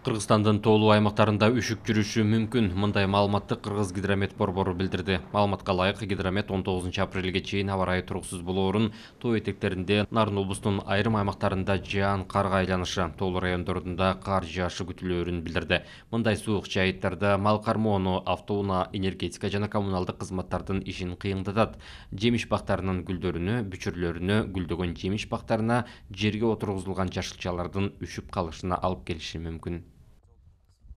Кыргызстандын тоолуу аймактарында үшүк жүрүшү мүмкүн. Мындай маалыматты Кыргыз гидромет борбору билдирди. Маалыматка ылайык, гидромет 19-апрелге чейин аба ырайы туруксуз болоорун, тоо этектеринде Нарын облустунун айрым аймактарында жаан карга айланышы, тоолуу райондорунда кар жаашы күтүлөөрүн билдирди. Мындай суук жайыттарда мал кармоону, автоунаа, энергетика жана коммуналдык кызматтардын ишин кыйындатат. Жемиш бактарынын гүлдөрүнө, бүчүрлөрүнө, гүлдөгөн жемиш бактарына жерге отургузулган жашылчалардын үшүп калышына алып келиши мүмкүн.